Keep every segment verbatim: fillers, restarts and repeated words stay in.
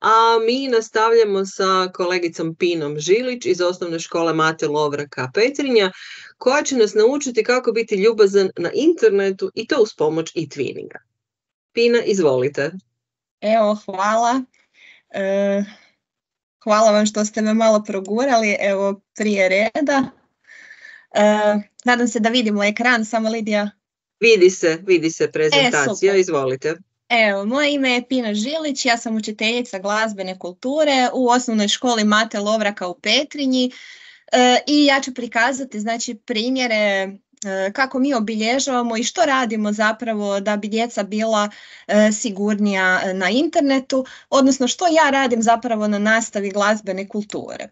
a mi nastavljamo sa kolegicom Pinom Žilić iz Osnovne škole Mate Lovraka Petrinja, koja će nas naučiti kako biti ljubazan na internetu i to uz pomoć e-twinninga. Pina, izvolite. Evo, hvala. E, hvala vam što ste me malo progurali, evo, prije reda. E, nadam se da vidimo ekran, samo Lidija. Vidi se, vidi se prezentacija, e, izvolite. Evo, moje ime je Pina Žilić, ja sam učiteljica glazbene kulture u Osnovnoj školi Mate Lovraka u Petrinji e, i ja ću prikazati, znači, primjere e, kako mi obilježavamo i što radimo zapravo da bi djeca bila e, sigurnija na internetu, odnosno što ja radim zapravo na nastavi glazbene kulture.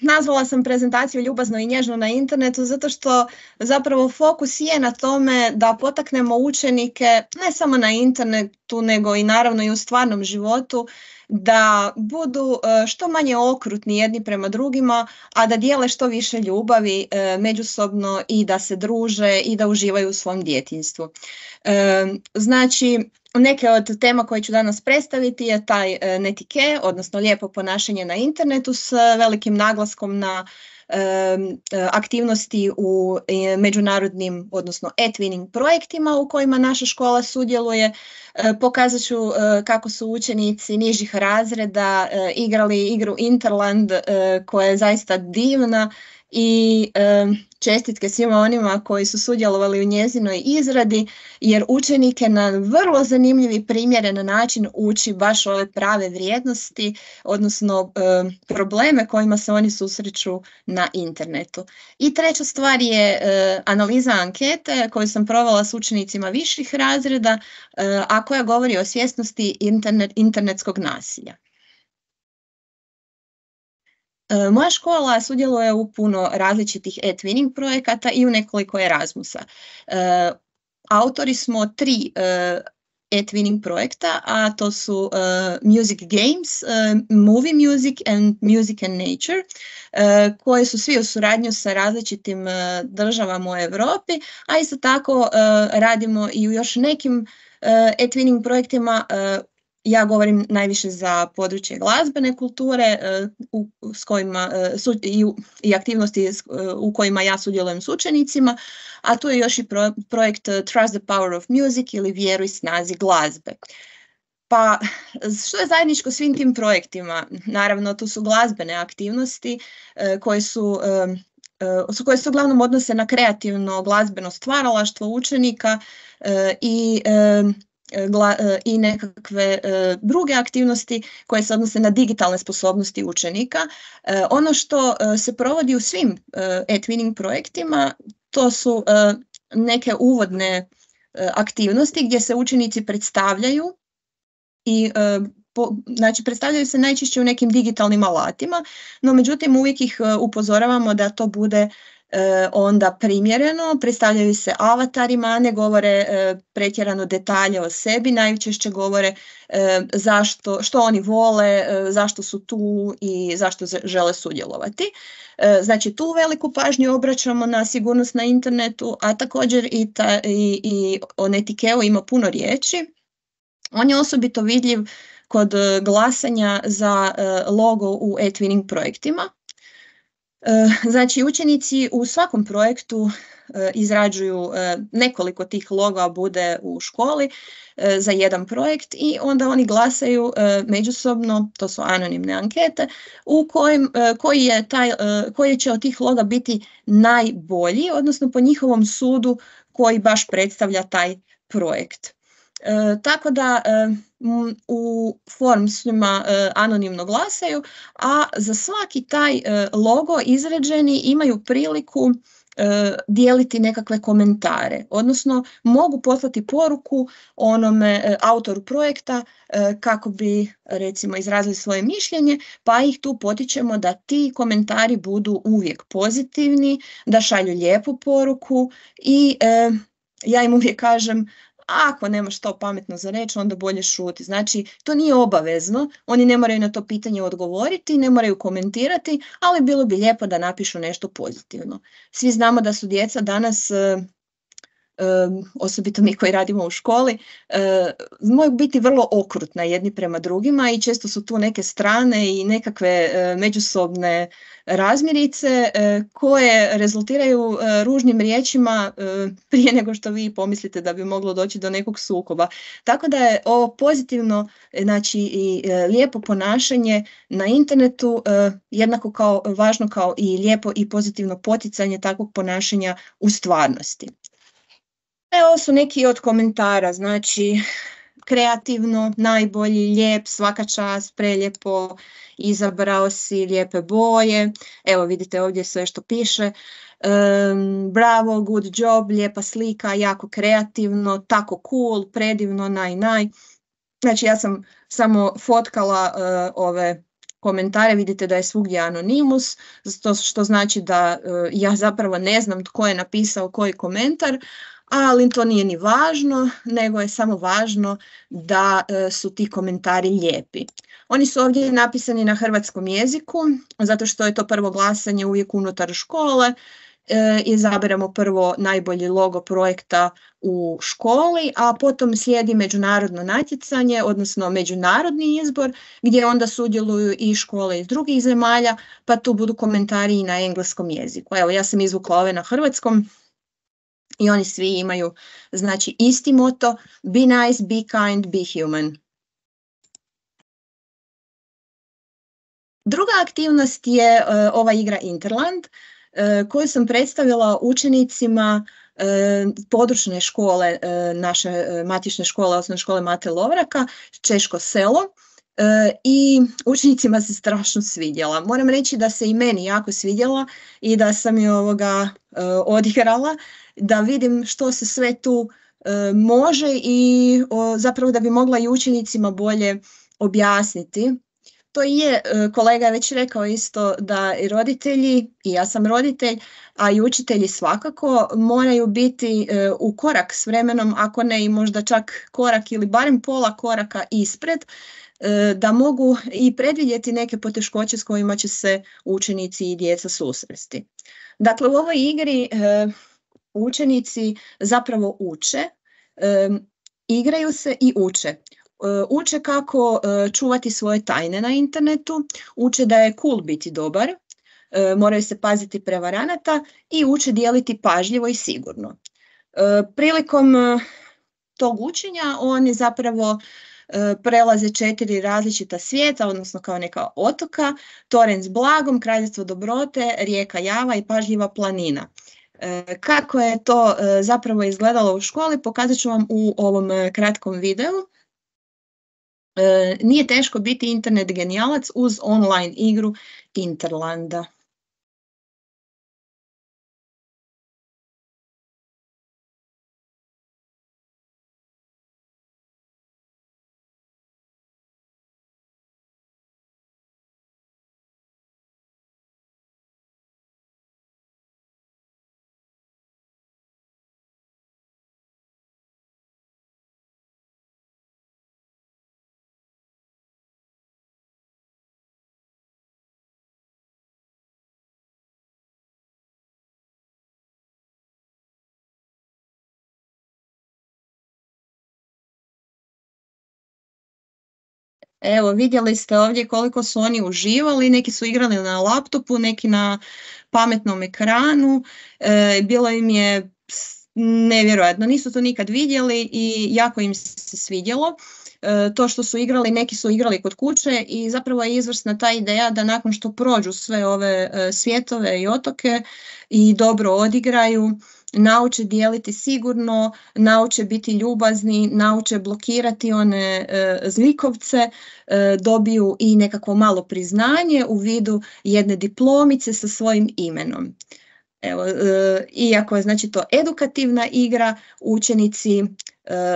Nazvala sam prezentaciju Ljubazno i nježno na internetu zato što zapravo fokus je na tome da potaknemo učenike ne samo na internetu nego i naravno i u stvarnom životu da budu što manje okrutni jedni prema drugima, a da dijele što više ljubavi međusobno i da se druže i da uživaju u svom djetinjstvu. Znači, neke od tema koje ću danas predstaviti je taj netike, odnosno lijepo ponašanje na internetu s velikim naglaskom na aktivnosti u međunarodnim, odnosno e-twinning projektima u kojima naša škola sudjeluje. Pokazat ću kako su učenici nižih razreda igrali igru Interland koja je zaista divna i čestitke svima onima koji su sudjelovali u njezinoj izradi, jer učenike na vrlo zanimljiv i primjeren način uči baš ove prave vrijednosti, odnosno probleme kojima se oni susreću na internetu. I treća stvar je analiza ankete koju sam provela s učenicima viših razreda, a koja govori o svjesnosti internet, internetskog nasilja. Moja škola sudjeluje u puno različitih e-twinning projekata i u nekoliko Erasmusa. Autori smo tri e-twinning projekta, a to su Music Games, Movie Music and Music and Nature, koji su svi u suradnju sa različitim državama u Europi, a isto tako radimo i u još nekim e-twinning projektima. Ja govorim najviše za područje glazbene kulture u, s kojima, su, i, i aktivnosti u kojima ja sudjelujem s učenicima, a tu je još i pro, projekt Trust the Power of Music ili Vjeruj snazi glazbe. Pa što je zajedničko svim tim projektima? Naravno, tu su glazbene aktivnosti koje su koje se uglavnom odnose na kreativno glazbeno stvaralaštvo učenika i i nekakve uh, druge aktivnosti koje se odnose na digitalne sposobnosti učenika. Uh, ono što uh, se provodi u svim uh, e-twinning projektima, to su uh, neke uvodne uh, aktivnosti gdje se učenici predstavljaju i uh, po, znači predstavljaju se najčešće u nekim digitalnim alatima, no međutim uvijek ih uh, upozoravamo da to bude E, onda primjereno, predstavljaju se avatarima, ne govore e, pretjerano detalje o sebi, najčešće govore e, zašto, što oni vole, e, zašto su tu i zašto žele sudjelovati. E, znači tu veliku pažnju obraćamo na sigurnost na internetu, a također i, ta, i, i o netikeu ima puno riječi. On je osobito vidljiv kod glasanja za e, logo u e-twinning projektima. Znači, učenici u svakom projektu izrađuju nekoliko tih loga bude u školi za jedan projekt i onda oni glasaju međusobno, to su anonimne ankete, u kojim, koji, je taj, koji će od tih loga biti najbolji, odnosno po njihovom sudu koji baš predstavlja taj projekt. E, tako da e, m, u forumsima e, anonimno glasaju, a za svaki taj e, logo izrađeni imaju priliku e, dijeliti nekakve komentare, odnosno mogu poslati poruku onome e, autoru projekta e, kako bi recimo izrazili svoje mišljenje, pa ih tu potičemo da ti komentari budu uvijek pozitivni, da šalju lijepu poruku i e, ja im uvijek kažem, ako nemaš to pametno za reći, onda bolje šuti. Znači, to nije obavezno, oni ne moraju na to pitanje odgovoriti, ne moraju komentirati, ali bilo bi lijepo da napišu nešto pozitivno. Svi znamo da su djeca danas osobito mi koji radimo u školi, mogu biti vrlo okrutna jedni prema drugima i često su tu neke strane i nekakve međusobne razmirice koje rezultiraju ružnim riječima prije nego što vi pomislite da bi moglo doći do nekog sukoba. Tako da je ovo pozitivno, znači i lijepo ponašanje na internetu jednako kao važno kao i lijepo i pozitivno poticanje takvog ponašanja u stvarnosti. Evo su neki od komentara, znači kreativno, najbolji, lijep, svaka čast, prelijepo, izabrao si lijepe boje, evo vidite ovdje sve što piše, um, bravo, good job, lijepa slika, jako kreativno, tako cool, predivno, naj, naj. Znači ja sam samo fotkala uh, ove komentare, vidite da je svugdje anonimus, što znači da uh, ja zapravo ne znam tko je napisao koji komentar, ali to nije ni važno, nego je samo važno da e, su ti komentari lijepi. Oni su ovdje napisani na hrvatskom jeziku, zato što je to prvo glasanje uvijek unutar škole. E, izaberemo prvo najbolji logo projekta u školi, a potom slijedi međunarodno natjecanje, odnosno međunarodni izbor, gdje onda sudjeluju i škole iz drugih zemalja, pa tu budu komentari i na engleskom jeziku. Evo, ja sam izvukla ove na hrvatskom. I oni svi imaju, znači, isti moto, be nice, be kind, be human. Druga aktivnost je uh, ova igra Interland, uh, koju sam predstavila učenicima uh, područne škole, uh, naše uh, matične škole, osnovne škole Mate Lovraka, Češko selo. Uh, I učenicima se strašno svidjela. Moram reći da se i meni jako svidjela i da sam je ovoga uh, odigrala, da vidim što se sve tu uh, može i o, zapravo da bi mogla i učenicima bolje objasniti. To je, uh, kolega je već rekao isto da i roditelji, i ja sam roditelj, a i učitelji svakako moraju biti uh, u korak s vremenom, ako ne i možda čak korak ili barem pola koraka ispred, da mogu i predvidjeti neke poteškoće s kojima će se učenici i djeca susresti. Dakle, u ovoj igri e, učenici zapravo uče, e, igraju se i uče. E, uče kako e, čuvati svoje tajne na internetu, uče da je cool biti dobar, e, moraju se paziti prevaranata i uče dijeliti pažljivo i sigurno. E, prilikom e, tog učenja oni zapravo prelaze četiri različita svijeta, odnosno kao neka otoka, toranj s blagom, kraljevstvo dobrote, rijeka Java i pažljiva planina. Kako je to zapravo izgledalo u školi, pokazat ću vam u ovom kratkom videu. Nije teško biti internet genijalac uz online igru Interlanda. Evo, vidjeli ste ovdje koliko su oni uživali, neki su igrali na laptopu, neki na pametnom ekranu, e, bilo im je nevjerojatno, nisu to nikad vidjeli i jako im se svidjelo. E, to što su igrali, neki su igrali kod kuće i zapravo je izvrsna ta ideja da nakon što prođu sve ove e, svjetove i otoke i dobro odigraju, nauče dijeliti sigurno, nauče biti ljubazni, nauče blokirati one e, zlikovce, e, dobiju i nekakvo malo priznanje u vidu jedne diplomice sa svojim imenom. Evo, e, iako je znači to edukativna igra, učenici e,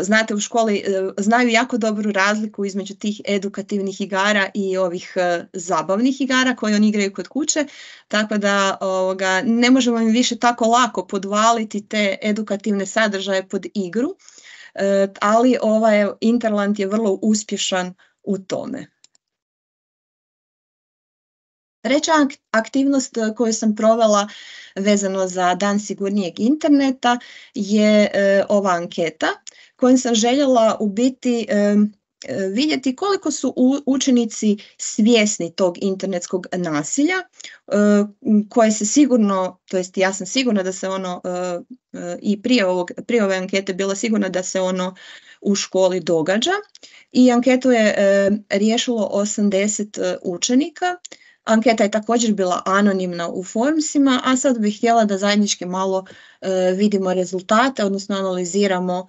znate u školi e, znaju jako dobru razliku između tih edukativnih igara i ovih e, zabavnih igara koje oni igraju kod kuće, tako da ovoga, ne možemo im više tako lako podvaliti te edukativne sadržaje pod igru, e, ali ovaj Interland je vrlo uspješan u tome. Treća aktivnost koju sam provela vezano za Dan sigurnijeg interneta je e, ova anketa kojom sam željela u biti e, vidjeti koliko su učenici svjesni tog internetskog nasilja koje se sigurno, to jest ja sam sigurna da se ono i prije, ovog, prije ove ankete bila sigurna da se ono u školi događa i anketu je riješilo osamdeset učenika. Anketa je također bila anonimna u Formsima, a sad bih htjela da zajednički malo vidimo rezultate, odnosno analiziramo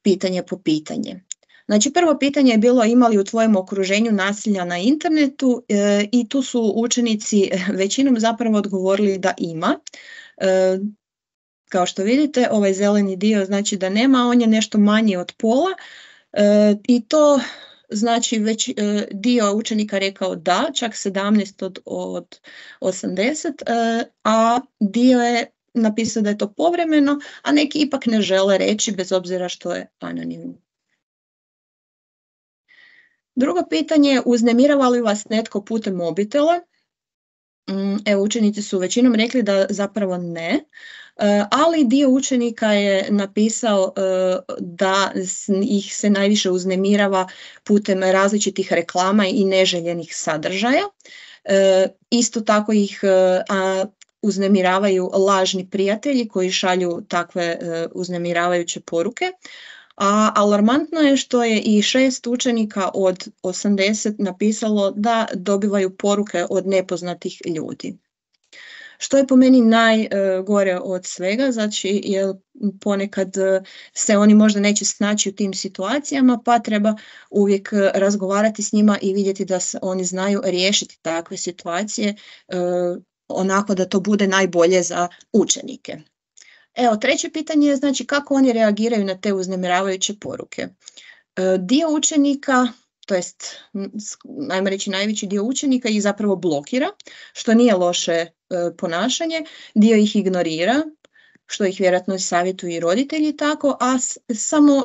pitanje po pitanje. Znači, prvo pitanje je bilo ima li u tvojem okruženju nasilja na internetu e, i tu su učenici većinom zapravo odgovorili da ima. E, kao što vidite, ovaj zeleni dio znači da nema, on je nešto manji od pola e, i to znači već e, dio učenika rekao da, čak sedamnaest od, od osamdeset, e, a dio je napisao da je to povremeno, a neki ipak ne žele reći bez obzira što je anonimno. Drugo pitanje je uznemirava li vas netko putem mobitela? Evo, učenici su većinom rekli da zapravo ne, ali dio učenika je napisao da ih se najviše uznemirava putem različitih reklama i neželjenih sadržaja. Isto tako ih uznemiravaju lažni prijatelji koji šalju takve uznemiravajuće poruke. A alarmantno je što je i šest učenika od osamdeset napisalo da dobivaju poruke od nepoznatih ljudi. Što je po meni najgore od svega, znači jer ponekad se oni možda neće snaći u tim situacijama, pa treba uvijek razgovarati s njima i vidjeti da se oni znaju riješiti takve situacije onako da to bude najbolje za učenike. Evo, treće pitanje je znači kako oni reagiraju na te uznemiravajuće poruke. E, dio učenika, to jest najmo reći najveći dio učenika ih zapravo blokira, što nije loše e, ponašanje, dio ih ignorira, što ih vjerojatno savjetuju i roditelji tako, a s, samo e,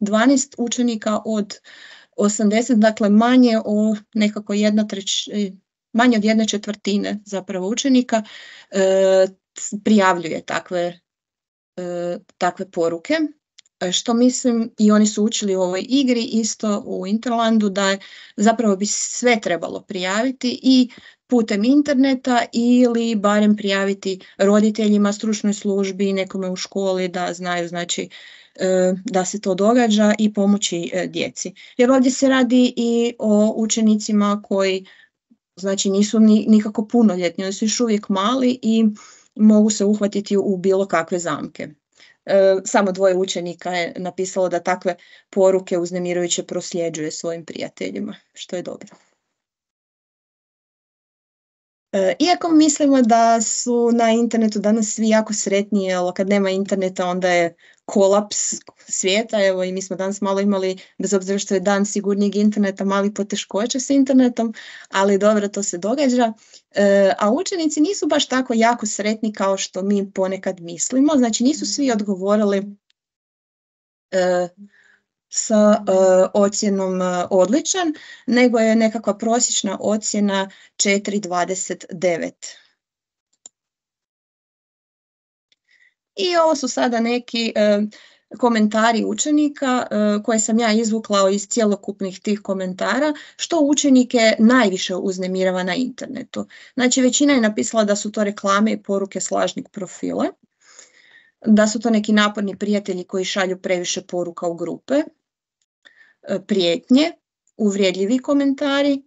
dvanaest učenika od osamdeset, dakle manje o nekako jedna treć, manje od jedne četvrtine zapravo učenika e, prijavljuje takve takve poruke, što mislim i oni su učili u ovoj igri isto u Interlandu da je zapravo bi sve trebalo prijaviti i putem interneta ili barem prijaviti roditeljima, stručnoj službi, nekome u školi da znaju znači da se to događa i pomoći djeci. Jer ovdje se radi i o učenicima koji znači nisu ni, nikako punoljetni, oni su još uvijek mali i mogu se uhvatiti u bilo kakve zamke. E, samo dvoje učenika je napisalo da takve poruke uznemirujuće prosljeđuje svojim prijateljima, što je dobro. E, iako mislimo da su na internetu danas svi jako sretni, jer kad nema interneta onda je kolaps svijeta, evo i mi smo danas malo imali, bez obzira što je dan sigurnijeg interneta, mali poteškoća s internetom, ali dobro, to se događa. E, a učenici nisu baš tako jako sretni kao što mi ponekad mislimo, znači nisu svi odgovorili e, sa e, ocjenom e, odličan, nego je nekakva prosječna ocjena četiri zarez dvadeset devet. I ovo su sada neki e, komentari učenika e, koje sam ja izvukla iz cjelokupnih tih komentara, što učenike najviše uznemirava na internetu. Znači, većina je napisala da su to reklame i poruke s lažnih profila, da su to neki naporni prijatelji koji šalju previše poruka u grupe, e, prijetnje, uvrijedljivi komentari,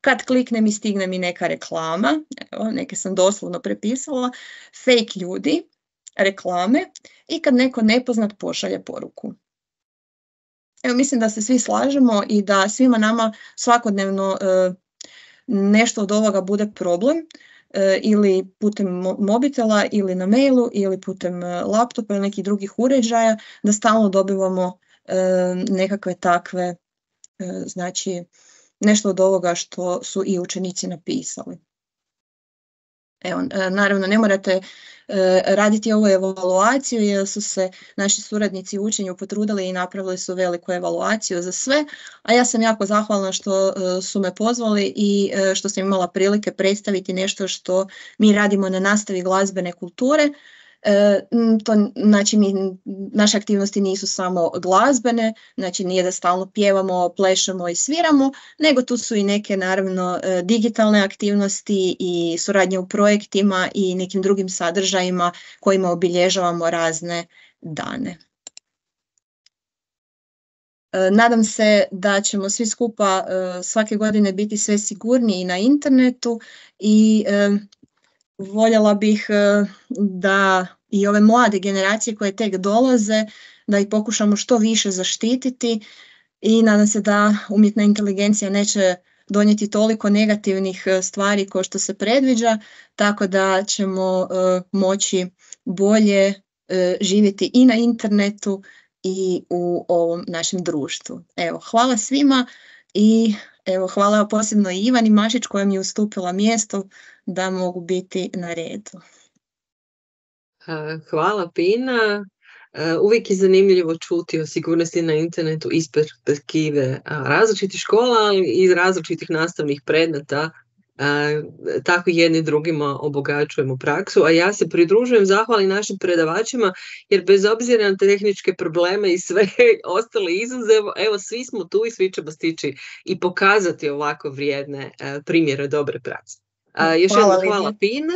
kad kliknem i stigne mi neka reklama, evo, neke sam doslovno prepisala, fake ljudi, reklame i kad neko nepoznat pošalje poruku. Evo, mislim da se svi slažemo i da svima nama svakodnevno e, nešto od ovoga bude problem e, ili putem mo mobitela ili na mailu ili putem e, laptopa ili nekih drugih uređaja, da stalno dobivamo e, nekakve takve, e, znači nešto od ovoga što su i učenici napisali. Evo, naravno, ne morate raditi ovu evaluaciju jer su se naši suradnici u učenju potrudili i napravili su veliku evaluaciju za sve, a ja sam jako zahvalna što su me pozvali i što sam imala prilike predstaviti nešto što mi radimo na nastavi glazbene kulture. To, znači, mi, naše aktivnosti nisu samo glazbene, znači nije da stalno pjevamo, plešemo i sviramo, nego tu su i neke, naravno, digitalne aktivnosti i suradnje u projektima i nekim drugim sadržajima kojima obilježavamo razne dane. Nadam se da ćemo svi skupa svake godine biti sve sigurniji na internetu i voljela bih da i ove mlade generacije koje tek dolaze, da ih pokušamo što više zaštititi i nadam se da umjetna inteligencija neće donijeti toliko negativnih stvari kao što se predviđa, tako da ćemo moći bolje živjeti i na internetu i u ovom našem društvu. Evo, hvala svima i evo, hvala posebno i Ivani Mašić koja mi je ustupila mjesto da mogu biti na redu. Hvala Pina. Uvijek je zanimljivo čuti o sigurnosti na internetu iz perspektive različitih škola, ali i iz različitih nastavnih predmeta. Tako jedni drugima obogaćujemo praksu, a ja se pridružujem zahvali našim predavačima, jer bez obzira na tehničke probleme i sve ostale izazove, evo svi smo tu i svi ćemo stići i pokazati ovako vrijedne primjere dobre prakse. Još jednom hvala Pina.